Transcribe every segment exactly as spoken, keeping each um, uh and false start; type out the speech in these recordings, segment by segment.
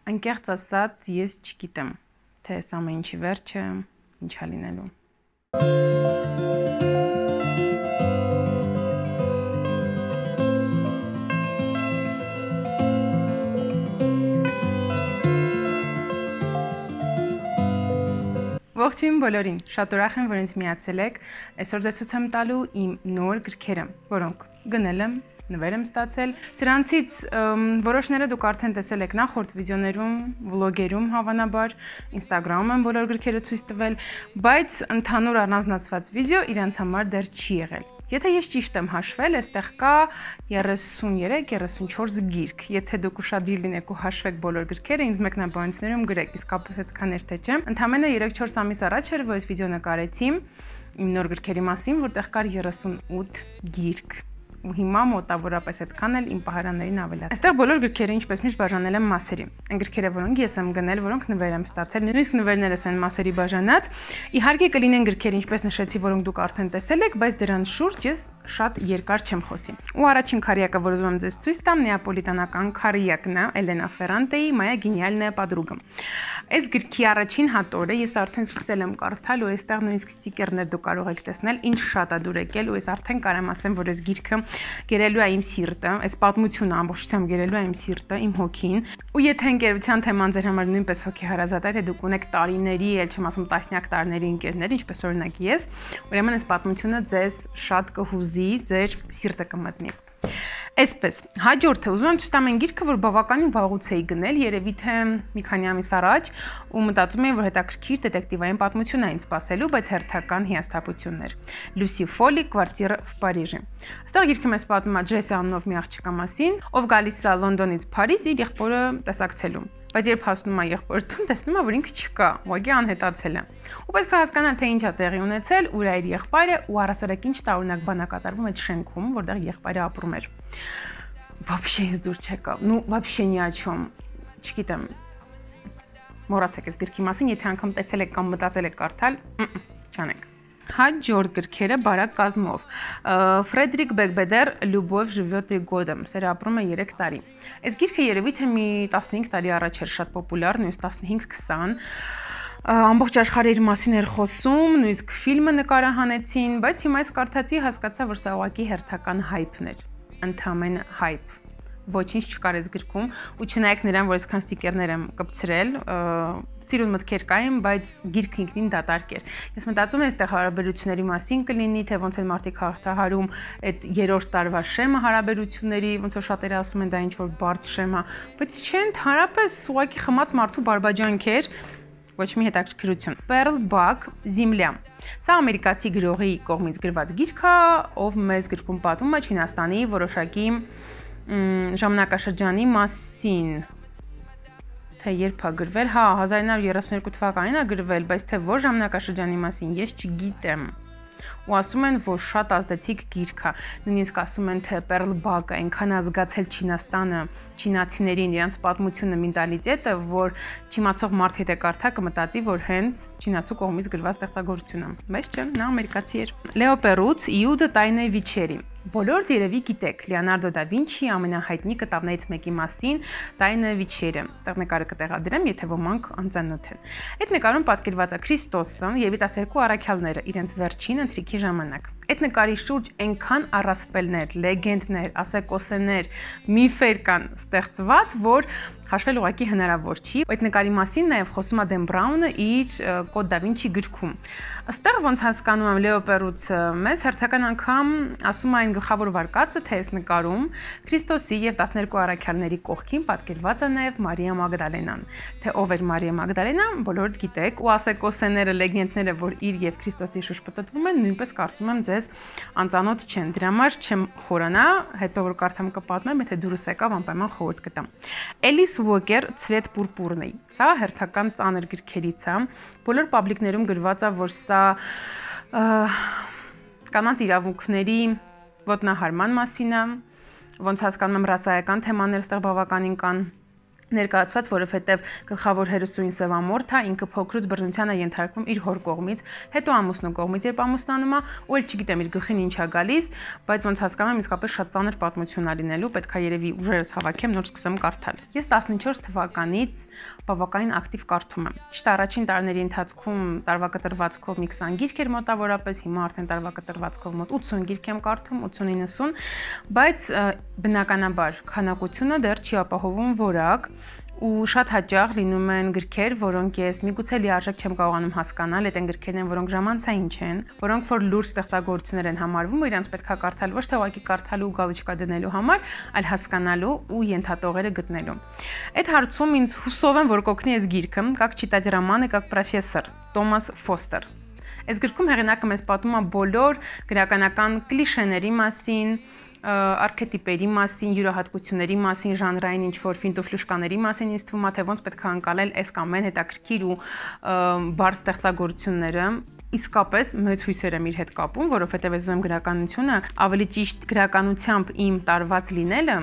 Անկեղծ ասած, ես չգիտեմ, թե այս ամեն ինչի վերջը ինչա լինելու։ Ողջույն բոլորին, շատ ուրախ եմ, որ ինձ միացել եք։ Այսօր ձեզ ցույց եմ տալու իմ նոր գրքերը, որոնք գնել եմ, նվեր եմ ստացել։ Սրանցից որոշները դուք արդեն տեսել եք նախորդ վիդեոներում, վլոգերում հավանաբար, Instagram-ում եմ բոլոր գրքերը ցույց տվել, բայց ընդհանուր առանձնացված վիդեո իրանց համար դեռ չի եղել։ Եթե ես ճիշտ եմ հաշվել, այստեղ կա երեսուններեք երեսունչորս գիրք։ Եթե դուք ուշադիր լինեք ու հաշվեք բոլոր գրքերը, ինձ մեկնաբանություններում գրեք, իսկապես այդքան էր թե չէ։ Ընդամենը երեք-չորս ամիս առաջ էր, որ այս վիդեո նկարեցի իմ նոր գրքերի մասին, որտեղ կար երեսունութ գիրք։ Ու հիմա մոտավորապես այդքան էլ իմ պահարաններին ավելացել։ Այստեղ բոլոր գրքերը ինչպես միշտ բաժանել եմ մասերի։ Այն գրքերը, որոնք ես եմ գնել, որոնք նվեր եմ ստացել, նույնիսկ նվերներս են մասերի բաժանած։ Իհարկե կլինեն գրքեր, ինչպես նշեցի, որոնք դուք արդեն տեսել եք, բայց դրանց շուրջ ես շատ երկար չեմ խոսի։ Ու առաջին քարյակը, որ ուզում եմ ձեզ ցույց տամ, նեապոլիտանական քարյակն է, Էլենա Ֆերրանտեի «Моя гениальная подруга»։ Այս գրքի առաջին հատորը ես արդեն սկսել եմ կարդալ ու այստեղ նույնիսկ ստիկերներ դուք կարող եք տեսնել, ինչ շատ է դուր եկել ու ես արդեն կարամ ասեմ, որ այս գիրքը գերելու է իմ սիրտը, այս պատմությունը ամբողջությամբ գերելու է իմ սիրտը, իմ հոգին։ Ու եթե ընկերության թեման ձեր համար նույնպես հոգեհարազատ է, թե դուք ունեք տարիների, էլ չեմ ասում տասնյակ տարիների ընկերներ, ինչպես օրինակ ես, ուրեմն այս պատմությունը ձեզ շատ կհուզի, ձեր սիրտը կմտնի։ Այսպես, հաջորդը ուզում եմ ցույց տամ այն գիրքը, որ բավականին վաղուց էի գնել, երևի թե մի քանի ամիս առաջ, ու մտածում էի, որ հետաքրքիր դետեկտիվային պատմություն է ինձ սպասելու, բայց հերթական հիասթափություններ։ Լուսի Ֆոլի «Կվարտիրա в Париже»։ Այստեղ գիրքը մեզ պատմում է Ջեսի անունով մի աղջկա մասին, ով գալիս է Լոնդոնից Փարիզ իր եղբորը տեսակցելու։ Բայց երբ հասնում է եղբորտուն, տեսնում է, որ ինքը չկա, ուղղակի անհետացել է։ Ու պետք է հասկանալ, թե ինչ է տեղի ունեցել, ուր է իր եղբայրը ու առասարակ ինչ տարօրինակ բան է կատարվում այդ շենքում, որտեղ եղբայրը ապրում էր։ Вообще ինձ դուր չեկավ։ Ну, вообще ни о чем։ Չգիտեմ։ Մոռացեք այս գրքի մասին, եթե անգամ տեսել եք կամ մտածել եք կարդալ, չանեք։ Հաջորդ գրքերը բարակ կազմով։ Ֆրեդերիկ Բեգբեդեր «Любовь живет три года», սերը ապրում է երեք տարի։ Այս գիրքը երևի թե մի տասնհինգ տարի առաջ էր շատ պոպուլյար, նույնիսկ տասնհինգ-քսան։ Ամբողջ աշխարհը իր մասին էր խոսում, նույնիսկ ֆիլմը նկարահանեցին, բայց հիմա այս կարդացի հասկացա, որ սա ուղղակի հերթական հայփն էր, ընդհանրապես հայփ։ Ոչինչ չկար այս գրքում, ու չնայեք նրան, որ այսքան ստիկերներ եմ կպցրել, սիրուն մտքեր կային, բայց գիրքը ինքնին դատարկ էր։ Ես մտածում եմ, այստեղ հարաբերությունների մասին կլինի, թե ոնց են մարդիկ հաղթահարում այդ երրորդ տարվա շեմը հարաբերությունների, ոնց որ շատերը ասում են դա ինչ որ բարդ շեմ է, բայց չէ, ընդհանրապես ուղղակի խմած մարդու բարբաջանք էր, ոչ մի հետաքրքրություն։ Պերլ Բակ «Земля»։ Սա ամերիկացի գրողի կողմից գրված գիրք է, ով մեզ գրքում պատմում է Չինաստանի որոշակի ժամանակաշրջանի մասին։ Թե երբ է գրվել, հա, հազար ինը հարյուր երեսունյոթ թվականին է գրվել, բայց թե որ ժամանակաշրջանի մասին ես չգիտեմ։ Ու ասում են, որ շատ ազդեցիկ գիրք է։ Նույնիսկ ասում են, թե Պերլ Բակը այնքան ազգացել Չինաստանը, չինացիներին, իրանց պատմությունը, մենտալիտետը, որ չիմացող մարդ եթե կարդա կմտածի, որ հենց չինացու կողմից գրված ստեղծագործություն է։ Բայց չէ, նա ամերիկացի էր։ Լեո Պերուց «Իուդա տայնե վիչերի»։ Բոլորդ երևի գիտեք Լեոնարդո դա Վինչիի ամենահայտնի կտավներից մեկի մասին «Տայնե վիչերը»։ Այստեղ նկարը կտեղադրեմ, եթե ոմանք անծանոթ են։ Այդ նկարում պատկերված է Քրիստոսը եւ տասներկու առաքյալները իրենց վերջին ընթրիքի ժամանակ։ Այդ նկարի շուրջ այնքան առասպելներ, լեգենդներ, ասեկոսեներ, միֆեր կան ստեղծված, որ հաշվել ուղղակի հնարավոր չի։ Այդ նկարի մասին նաև խոսում է Դեն Բրաունը իր Կոդ դա Վինչի գրքում։ Այստեղ ոնց հասկանում եմ Լեո Պերուցը մեզ հերթական անգամ ասում է այն գլխավոր վարկածը, թե այս նկարում Քրիստոսի եւ տասներկու առաքյալների կողքին պատկերված է նաև Մարիա Մագդալենան։ Թե ով էր Մարիա Մագդալենան, բոլորդ գիտեք, ու ասեկոսեները, լեգենդները, որ իր եւ Քրիստոսի շուրջ պտտվում են, նույնպես կարծում եմ ձեզ անծանոթ չեն։ Դրա համար չեմ խորանա, հետո որ կարդամ կպատմեմ, եթե դուրս եկավ անպայման խորհուրդ կտամ։ Էլիս Ուոկեր «Ցվետ պուրպուրնի»։ Սա հերթական ծանր գրքերից է։ Բոլոր պաբլիկներում գրված է, որ սա կանանց իրավունքների ոտնահարման մասին է, ոնց հասկանում եմ ռասայական թեմաներ այստեղ բավականին կան։ Ներկայացված, որովհետև գլխավոր հերոսուհին Սևամորթ է, ինքը փոքրուց բռնության է ենթարկվում իր հոր կողմից, հետո ամուսնու կողմից, երբ ամուսնանում է, ու էլ չգիտեմ իր գլխին ինչ է գալիս, բայց ոնց հասկանում եմ, իսկապես շատ ծանր պատմություն է լինելու, պետք է երևի ուժերս հավաքեմ, նոր սկսեմ կարդալ։ Ես տասնչորս թվականից բավականին ակտիվ կարդում եմ։ Ճիշտ առաջին տարիների ընթացքում տարվա կտրվածքով մի քսան գիրք էր մոտավորապես, հիմա արդեն տարվա կտրվածքով մոտ ութսուն գիրք եմ կարդում, ութսուն իննսուն, բայց բնականաբար քանակությունը դեռ չի ապահովում որակ ու շատ հաճախ լինում են գրքեր, որոնք ես միգուցե լիարժեք չեմ կարողանում հասկանալ, այդ են գրքերն են, որոնք ժամանցային չեն, որոնք որ լուրջ ստեղծագործություններ են համարվում, ու իրանց պետք է կարդալ ոչ թե ուղղակի կարդալու ու գալիճկա դնելու համար, այլ հասկանալու ու ենթատողերը գտնելու։ Այդ հարցում ինձ հուսով եմ, որ կօգնի այս գիրքը, Как читать романы как профессор, Տոմաս Ֆոստեր։ Այս գրքում հեղինակը մեզ պատմում է բոլոր գրականական կլիշեների մասին, արքետիպերի մասին, յուրահատկությունների մասին, ժանրային ինչ-որ ֆինտուֆլուշկաների մասին, ինձ թվում է, թե ոնց պետք է անցնել այս կամ այն հետաքրքիր ու բարձ ստեղծագործությունները, իսկապես մեծ հույսեր եմ իր հետ կապում, որովհետև ես ուզում եմ գրականությունը ավելի ճիշտ գրականությամբ իմ տարված լինելը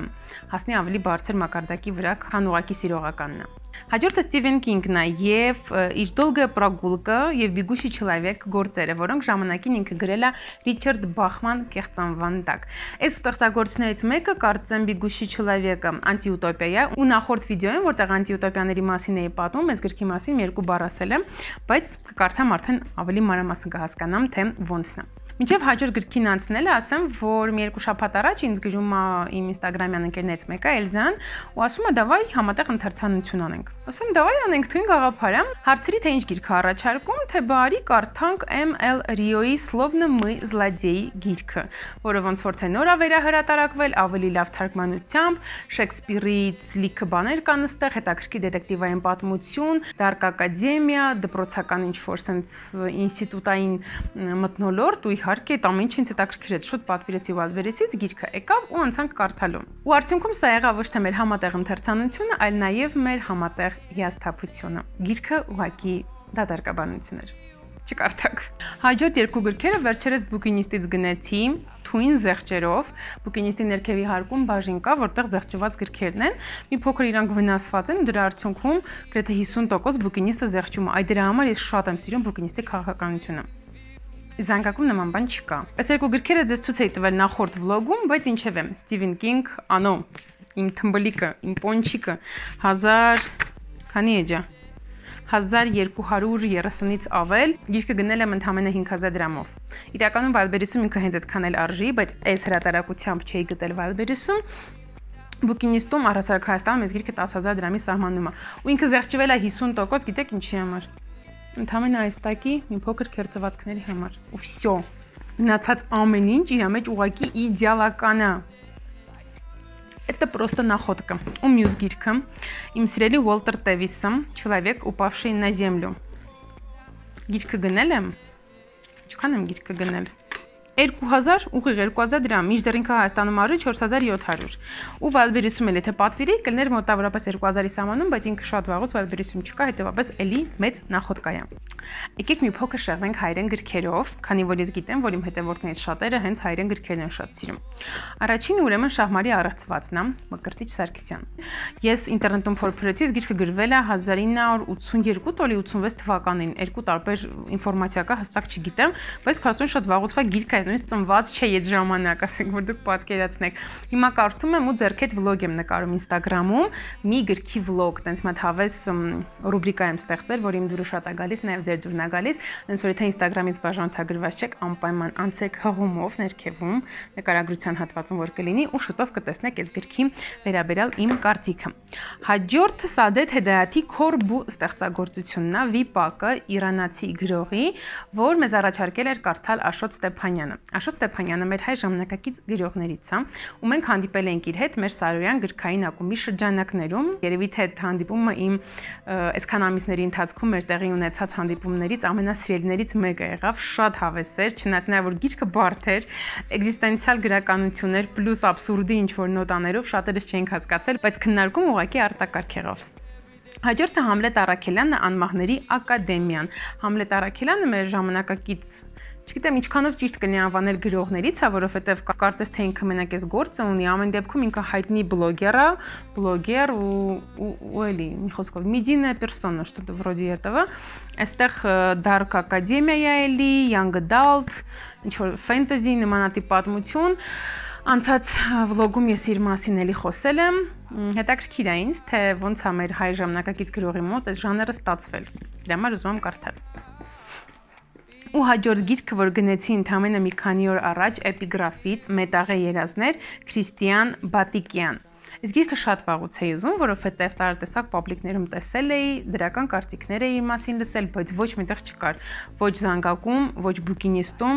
հասնի ավելի բարձր մակարդակի վրա, քան ուղղակի սիրողականն է։ Հաջորդը Ստիվեն Կինգն է եւ իր Долгая прогулка եւ Бегущий человек գործերը, որոնք ժամանակին ինքը գրել է Ռիչարդ Բախման կեղծանվան տակ։ Այս ստեղծագործություններից մեկը կարծեմ Бегущий человек-ը անտիուտոպիա է, ու նախորդ վիդեոյում, որտեղ անտիուտոպիաների մասին էի պատմում, այս գրքի մասին մի երկու բառ ասել եմ, բայց կկարդամ արդեն ավելի մանրամասն կհասկանամ, թե ոնցն է։ Մինչև հաջորդ գրքին անցնելը ասեմ, որ մի երկու շաբաթ առաջ ինձ գրում է իմ ինստագրամյան ընկերներից մեկը Էլզան ու ասում է՝ «Դավայ համատեղ ընթերցանություն անենք»։ Ասում եմ՝ «Դավայ անենք, թույն գաղափար է»։ Հարցրի, թե ինչ գիրք առաջարկում, թե բարի կարդանք Էմ Էլ Ռիոյի Словно мы злодеи գիրքը, որը ոնց որ թե նոր է վերահրատարակվել, ավելի լավ թարգմանությամբ, Շեքսպիրից լիքը բաներ կան այստեղ, հետաքրքիր դետեկտիվային պատմություն, Dark Academia, դպրոցական ինչ-որ sense ինստիտուտային մթնոլորտ ու իհարկե այդ ամեն ինչը ինձ հետաքրքրեց, շուտ պատվիրեցի Wildberries-ից, գիրքը եկավ ու անցանք կարդալու։ Ու արդյունքում սա եղավ ոչ թե մեր համատեղ ընթերցանությունը, այլ նաև մեր համատեղ հիասթափությունը։ Գիրքը ուղղակի դատարկաբանություն էր։ Չկարդակ։ Հաջորդ երկու գրքերը վերջերս Բուկինիստից գնեցի թույն զեղչերով, Բուկինիստի ներքևի հարկում բաժին կա, որտեղ զեղչված գրքերն են, մի փոքր իրանք վնասված են ու դրա արդյունքում գրեթե հիսուն տոկոս Բուկինիստը զեղչում է։ Այդ դրա համար ես շատ եմ սիրում Բուկինիստի քաղաքականությունը։ Զանգակում նման բան չկա։ Այս երկու գրքերը ձեզ ցույց էի տվել նախորդ վլոգում, բայց ինչևէ, Ստիվեն Կինգ, անո, իմ թմբլիկը, իմ պոնչիկը հազար քանի էջա հազար երկու հարյուր երեսունից ավել, գիրքը գնել եմ ընդամենը հինգ հազար դրամով։ Իրականում Wildberries-ում ինքը հենց այդքան էլ արժի, բայց այս հրատարակությամբ չէի գտել Wildberries-ում։ Բուկինիստում առհասարակ Հայաստանում այս գիրքը տասը հազար դրամի սահմանում է։ Ու ինքը զեղչվել է հիսուն տոկոս, գիտեք ինչի համար։ Ընդամենը այս տակի մի փոքր քերծվածքների համար։ Ու վсё։ Մնացած ամեն ինչ իր մեջ ուղակի իդեալական է։ Это просто находка. У մյուս գիրքը իմ սիրելի Ուոլտեր Տևիսը Человек, упавший на землю։ Գիրքը գնել եմ։ Ինչքան եմ գիրքը գնել։ երկու հազար, ուղիղ երկու հազար դրամ, մինչդեռ ինքը Հայաստանում արժի չորս հազար յոթ հարյուր։ Ու Wildberries-ում էլ եթե պատվիրի, կլներ մոտավորապես երկու հազարի սահմանում, բայց ինքը շատ վաղուց Wildberries-ում չկա, հետեւաբար էլի մեծ նախոտկա է։ Եկեք մի փոքր շեղվենք հայերեն գրքերով, քանի որ ես գիտեմ, որ իմ հետևորդներից շատերը հենց հայերեն գրքերն են շատ սիրում։ Առաջինը ուրեմն Շահմարի առեղծվածն է, Մկրտիչ Սարգսյան։ Ես ինտերնետում փորփրեցի, գիրքը գրվել է հազար ինը հարյուր ութսունյերկու տոլի ութսունվեց թվականին, երկու տարբեր ինֆորմացիա կա, հստակ չգիտեմ, բայց փաստորեն շատ վաղուց է գիրքը նույնիսկ ծնված չէ այդ ժամանակ, ասենք որ դուք պատկերացնեք։ Հիմա կարդում եմ ու ձեռքեդ վլոգ եմ նկարում Instagram-ում, մի գրքի վլոգ, տենց մի հատ հավես ռուբրիկա եմ ստեղծել, որ իմ դուրը շատ է գալիս, նաև ձեր դուրն է գալիս, տենց որ եթե Instagram-ից բաժանորդագրված չեք, անպայման անցեք հղումով ներքևում նկարագրության հատվածում որ կլինի ու շուտով կտեսնեք այս գրքի վերաբերյալ իմ կարծիքը։ Հաջորդը Սադեթ Հեդայաթի Քորբու ստեղծագործությունն է, Վիպակը, իրանացի գրողի, որ մեզ առաջարկել էր կարդալ Աշոտ Ստեփանյանը։ Աշոտ Ստեփանյանը մեր հայ ժամանակակից գրողներից է, ու մենք հանդիպել ենք իր հետ մեր Սարոյան գրքային ակումբի շրջանակներում։ Երևի թե այդ հանդիպումը իմ այսքան ամիսների ընթացքում մեր տեղի ունեցած հանդիպումներից ամենասիրելիներից մեկը եղավ, շատ հավես էր, չնայած նա որ գիրքը բարդ էր, էգզիստենցիալ գրականություններ պլյուս աբսուրդի ինչ-որ նոտաներով շատերս չենք հասկացել, բայց քննարկում ուղղակի արտակարգ եղավ։ Հաջորդը Համլետ Առաքելյանը Անմահների ակադեմիան։ Համլետ Առաքելյանը մեր ժամանակակից Չգիտեմ ինչքանով ճիշտ կլինի անվանել գրողներից, հա, որովհետև կարծես թե ինքը մենակ էս գործը ունի, ամեն դեպքում ինքը հայտնի բլոգեր է, բլոգեր ու ու էլի, մի խոսքով, медийная персона, что-то вроде этого. Այստեղ Dark Academia էլի, Young Adult, ինչ որ fantasy նմանատիպ պատմություն։ Անցած վլոգում ես իր մասին էլի խոսել եմ, հետաքրքիր է ինձ, թե ոնց է մեր հայ ժամանակակից գրողի մոտ այս ժանրը ստացվել։ Դրա համար ուզում եմ կարդալ։ Ու հաջորդ գիրքը, որ գնեցի ընդամենը մի քանի օր առաջ էպիգրաֆից Մետաղե երազներ Քրիստիան Բատիկյան։ Այս գիրքը շատ վաղուց էի ուզում, որովհետև տարատեսակ պաբլիկներում տեսել էի, դրական կարծիքներ էի իր մասին լսել, բայց ոչ միտեղ չկար, ոչ զանգակում, ոչ բուկինիստում,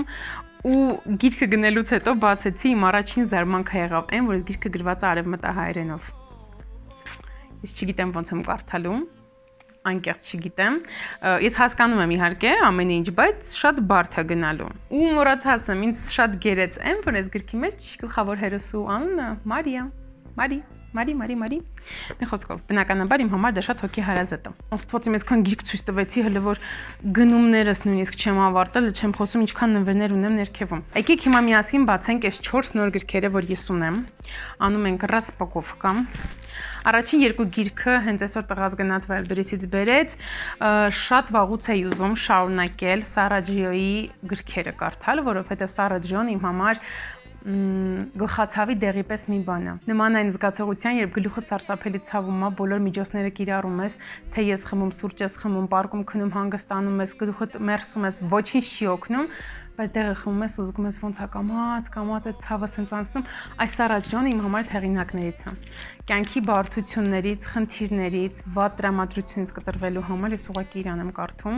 ու գիրքը գնելուց հետո բացեցի, իմ առաջին զարմանքը եղավ այն, որ այս գիրքը գրված է արևմտահայերենով։ Ես չգիտեմ ոնց եմ կարդալու, անկեղծ չգիտեմ։ Ես հասկանում եմ իհարկե ամեն ինչ, բայց շատ բարդ է գնալու։ Ու մոռացած եմ, ինձ շատ գերեց այն, որ այս գրքի մեջ գլխավոր հերոսու անունը Մարիա, Մարի, Մարի, Մարի, Մարի։ Մի խոսքով, բնականաբար իմ համար դա շատ հոգեհարազատ է։ Աստված իմ այսքան գիրք ցույց տվեցի, հələ որ գնումներս նույնիսկ չեմ ավարտել, չեմ խոսում ինչքան նվերներ ունեմ ներքևում։ Եկեք հիմա միասին բացենք այս չորս նոր գրքերը, որ ես ունեմ։ Անում ենք ռասպակովկա։ Առաջին երկու գիրքը հենց այսօր տղաս գնաց Wildberries-ից բերեց, շատ վաղուց էի ուզում շարունակել Սարաջիոյի գրքերը կարդալ, որովհետև Սարաջիոն իմ համար գլխացավի դեղի պես մի բան է։ Նման այն զգացողության, երբ գլուխը սարսափելի ցավում է, բոլոր միջոցները կիրառում ես, թե ես խմում, սուրճ ես խմում, պարկում քնում, հանգստանում ես, գլուխդ մերսում ես, ոչինչ չի օգնում, բայց դեղը խմում ես ու զգում ես ոնց է կամած, կամած է ցավը սենց անցնում։ Այս Սարաջյանը իմ համար հեղինակներից է։ Կյանքի բարդություններից, խնդիրներից, վատ տրամադրությունից կտրվելու համար ես ուղղակի իրան եմ կարդում։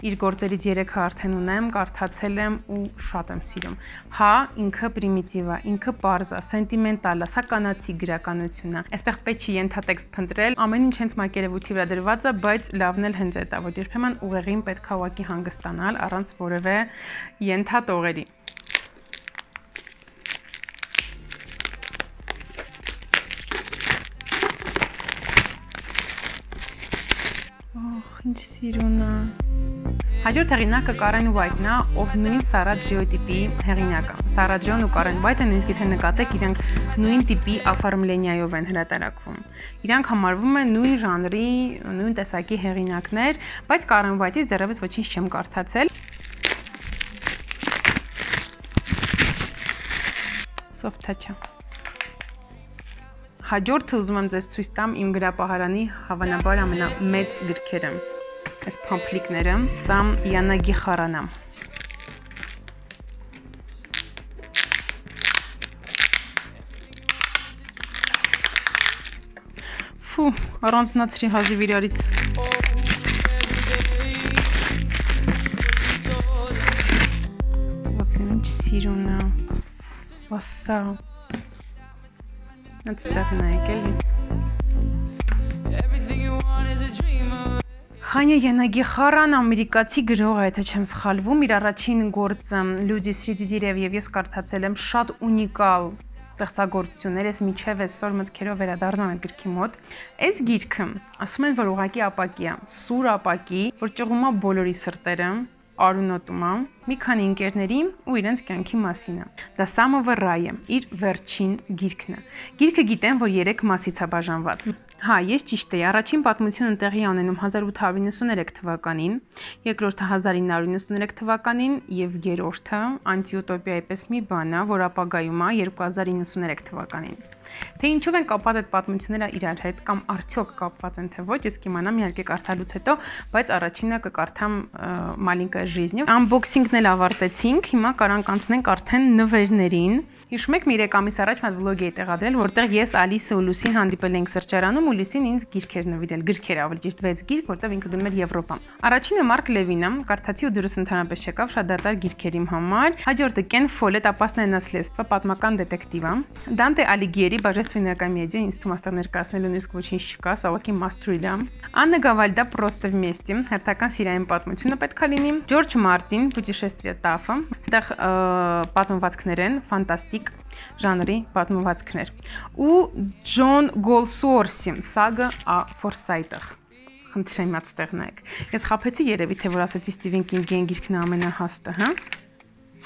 Իր գործերից երեքը արդեն ունեմ, կարդացել եմ ու շատ եմ սիրում։ Հա, ինքը պրիմիտիվ է, ինքը պարզ է, սենտիմենտալ է, սա կանացի գրականություն է։ Այստեղ պետք չի ենթատեքստ փնտրել, ամեն ինչ հենց մակերևույթի վրա դրված է, բայց լավն էլ հենց այդ է, որ երբեմն ուղեղին պետք է ուղղակի հանգստանալ առանց որևէ ենթատողերի։ Ահ, ինչ սիրուն է։ Հաջորդ հեղինակը Կարեն Ուայթն է, ով նույն Սարաջիոյի տիպի հեղինակ է։ Սարաջիոն ու Կարեն Ուայթը նույնիսկ եթե նկատեք, իրանք նույն տիպի աֆարմլենիայով են հրատարակվում։ Իրանք համարվում են նույն ժանրի, նույն տեսակի հեղինակներ, բայց Կարեն Ուայթից դեռևս ոչինչ չեմ կարդացել։ Soft touch-ը։ Հաջորդը ուզում եմ ձեզ ցույց տամ իմ գրապահարանի հավանաբար ամենամեծ գրքերը։ Այս փամփլիկները, սա Յանագի Խարանա։ Ֆու, առանձնացրի հազիվ իրարից։ Ստվացին ինչ սիրուն է։ Վասա։ Նցտեղ նայեք էլի։ Խանյա Յանագի Խարան ամերիկացի գրող է, եթե չեմ սխալվում, իր առաջին գործը Լյուդի Սրիդի դիրև եւ ես կարդացել եմ, շատ ունիկալ ստեղծագործություններ, ես միջև այսօր մտքերով վերադառնում եմ գրքի մոտ։ Այս գիրքը ասում են, որ ուղղակի ապակի է, սուր ապակի, որ ճղում է բոլորի սրտերը, արունոտում է մի քանի ընկերների ու իրենց կյանքի մասին է։ Դա Սամովը Ռայը, իր վերջին գիրքն է։ Գիրքը գիտեմ, որ երեք մասից է բաժանված։ Հա, ես ճիշտ էի, առաջին պատմությունը տեղի է ունենում հազար ութ հարյուր նվաթ թվականին, երկրորդը հազար ինը հարյուր նվաթ թվականին եւ երրորդը անտիուտոպիայի պես մի բան է, որ ապագայում է երկու հազար իննսունութ թվականին։ Թե ինչով են կապված այդ պատմությունները իրար հետ կամ արդյոք կապված են թե ոչ, ես կիմանամ իհարկե կարդալուց հետո, բայց առաջինը կկարդամ Մալինկա Ժիզնի։ Անբոքսինգն էլ ավարտեցինք, հիմա կարանք անցնենք արդեն նվերներին։ Հիշում եք, մի երեք ամիս առաջ մատ վլոգ էի տեղադրել, որտեղ ես Ալիսը ու Լուսին հանդիպել ենք սրճարանում ու Լուսին ինձ գիրքեր նվիրել, գրքեր ավելի ճիշտ վեց գիրք, որտեղ ինքը գնում էր Եվրոպա։ Առաջինը Մարկ Լևինը, կարդացի ու դուրս ընդհանրապես չեկավ, շատ դատարկ գիրքեր իմ համար։ Հաջորդը Կեն Ֆոլետ «Опасное наследство», պատմական դետեկտիվ է։ Դանտե Ալիգիերի «Божественная комедия», ինձ թվում աստեղ ներկայացնելու նույնիսկ ոչինչ չկա, սավոքի Մաստրիլա։ Աննա Գավալդա «Просто вместе», հերթական սիրային պատմությունը պետք է լինի։ Ջորջ Մարտին «Путешествие Тафа», այստեղ պատմվածքներ են, ֆանտաստիկ ժանրի պատմվածքներ։ Ու Ջոն Գոլսուորսի «Սագա ա Ֆորսայթը»։ Խնդրեմ իմ այդտեղ նայեք։ Ես խափեցի երևի թե որ ասեցի Սթիվեն Կինգի գիրքն ամենահաստը, հա։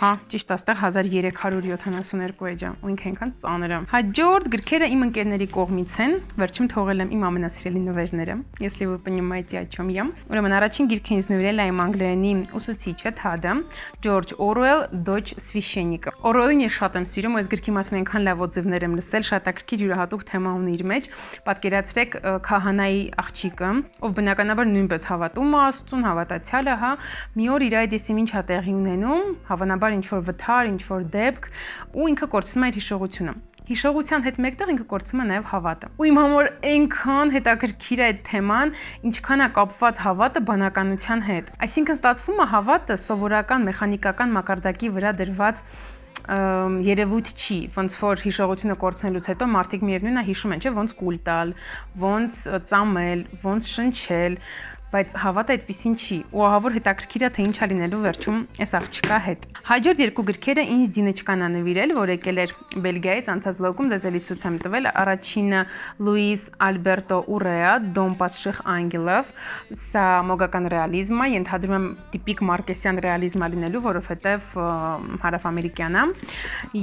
Հա, ճիշտ աստեղ հազար երեք հարյուր յոթանասունհինգ էջ է, ու ինքը այնքան ծանր է։ Հաջորդ գրքերը իմ ընկերների կողմից են, վերջում թողել եմ իմ ամենասիրելի նվերները, если вы понимаете, о чем я։ Ուրեմն առաջին գիրքը ինձ նվիրել է իմ անգլերենի ուսուցիչը Թադը, Ջորջ Օրուել, Դոչ Սվիշենիկը։ Օրուելին ես շատ եմ սիրում, այս գրքի մասին այնքան լավ օձիվներ եմ լսել, շատակրքիր յուրահատուկ թեմա ունի իր մեջ։ Պատկերացրեք քահանայի աղջիկը, ով բնականաբար նույնպես հավատում է Աստծուն, հավատացյալ է, հա, մի օր իր այդ եսիմինչ է տեղի ունենում, հավանաբար ինչ որ վթար, ինչ որ դեպք, ու ինքը կորցնում է իր հիշողությունը։ Հիշողության հետ մեկտեղ ինքը կորցնում է նաև հավատը։ Ու իմ համար այնքան հետաքրքիր է այդ թեման, ինչքան է կապված հավատը բանականության հետ։ Այսինքն ստացվում է հավատը սովորական մեխանիկական մակարդակի վրա դրված երևույթ չի, ոնց որ հիշողությունը կորցնելուց հետո մարդիկ միևնույնն է հիշում են, չէ՞, ոնց կուլ տալ, ոնց ծամել, ոնց շնչել, բայց հավատը այդպեսին չի, ու ահավոր հետաքրքիր է թե ինչ է լինելու վերջում այս աղջկա հետ։ Հաջորդ երկու գրքերը ինձ Դինեչկան է նվիրել, որ եկել էր Բելգիայից, անցած վլոգում ձեզ էլի ցույց եմ տվել, առաջինը Լուիս Ալբերտո Ուրեա, Դոմ պատշիղ անգելով, սա մոգական ռեալիզմ է, ենթադրում եմ տիպիկ մարկեսյան ռեալիզմ է լինելու, որովհետև հարավամերիկյան է,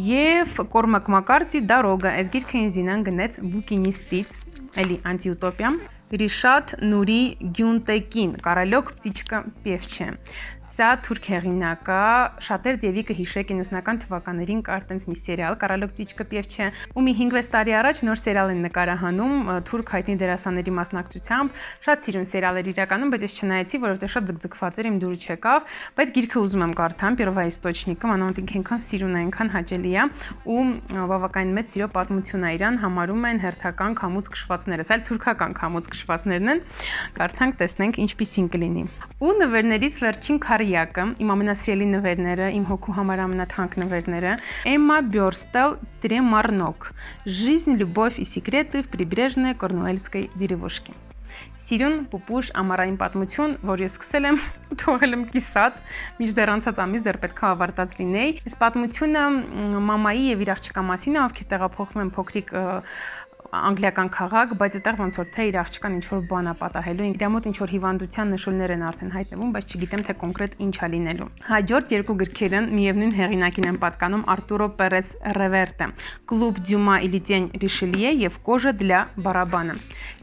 եւ Կորմակ Մակարդի Դարոգա, այս գիրքը ինձ Դինան գնեց բուկինիստից, էլի անտիուտոպիա, Ռիշատ Նուրի Գյունտեկին, Կարալյոկ Պտիչկա Պևչե։ Սա թուրք հեղինակ է, շատեր դեպի կհիշեք իննսունական թվականներին կար տենց մի սերիալ Կարալյոկ Պտիչկա Պևչե, ու մի հինգ-վեց տարի առաջ նոր սերիալ են նկարահանում թուրք հայտնի դերասանների մասնակցությամբ, շատ սիրուն սերիալ էր իրականում, բայց ես չնայեցի, որովհետև շատ ձգձգված էր, իմ դուրը չեկավ, բայց գիրքը ուզում եմ կարդամ, Первоисточникը, մանավանդ ինքը այնքան սիրուն է, այնքան հաճելի է, ու բավականին մեծ սիրո պատմություն է իրան, համարում են հերթական քամուց քշվածներս, այլ թուրքական քամուց քշվածներն են, կարդանք, տեսնենք ինչպիսին կլինի։ Ու նվերներից վերջին քարյակը, իմ ամենասիրելի նվերները, իմ հոգու համար ամենաթանկ նվերները, Էմմա Բյորստալ Տրեմարնոկ, Жизнь, любовь и секреты в прибрежной Корнуэльской деревушке։ Սիրուն, պուպուշ, ամառային պատմություն, որ ես սկսել եմ, թողել եմ կիսատ, մինչդեռ անցած ամիս դեռ պետք է ավարտած լինեի։ Այս պատմությունը մամայի եւ իր աղջկա մասին է, ովքեր տեղափոխվում են փոքրիկ անգլիական քաղաք, բայց այդտեղ ոնց որ թե իր աղջկան ինչ որ բան է պատահելու, իր մոտ ինչ որ հիվանդության նշույլներ են արդեն հայտնվում, բայց չգիտեմ թե կոնկրետ ինչ է լինելու։ Հաջորդ երկու գրքերը միևնույն հեղինակին են պատկանում Արտուրո Պերես Ռևերտը, Клуб Դյումա или Тень Ришелье եւ Кожа для барабана։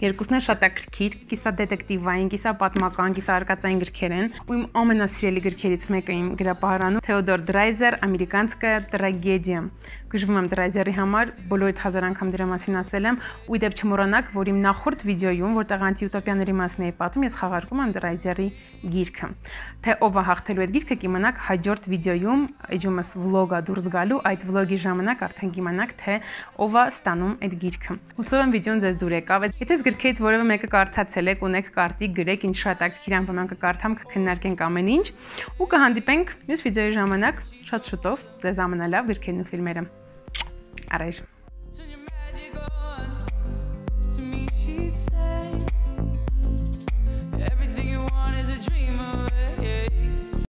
Երկուսն են շատ ակրքիր, կիսա դետեկտիվային, կիսա պատմական, կիսա արկածային գրքեր են, ու իմ ամենասիրելի գրքերից մեկը իմ գրապահարանում Թեոդոր Դրայզեր Ամերիկանская трагедия։ Գժվում եմ Դրայզերի համար, բոլորիդ հազար անգամ դրա մասին ասել եմ, ու դեպ չմոռանաք, որ իմ նախորդ վիդեոյում, որտեղ անտիուտոպիաների մասին էի պատմում, ես խաղարկում եմ Դրայզերի գիրքը։ Թե ով է հաղթելու այդ գիրքը կիմանաք հաջորդ վիդեոյում, էջումս վլոգա դուրս գալու, այդ վլոգի ժամանակ արդեն կիմանաք, թե ով է ստանում այդ գիրքը։ Հուսով եմ վիդեոն ձեզ դուր եկավ։ Եթե գրքերից որևէ մեկը կարդացել եք, ունեք կարտիկ, գրեք, ինձ շատ ակտիվ անպայման կկարդամ, կքննարկենք ամեն ինչ, ու կհանդիպենք մյուս վիդեոյի ժամանակ շատ շուտով ձեզ ամենալավ գրքերն ու ֆիլմերը։ Arrive. Say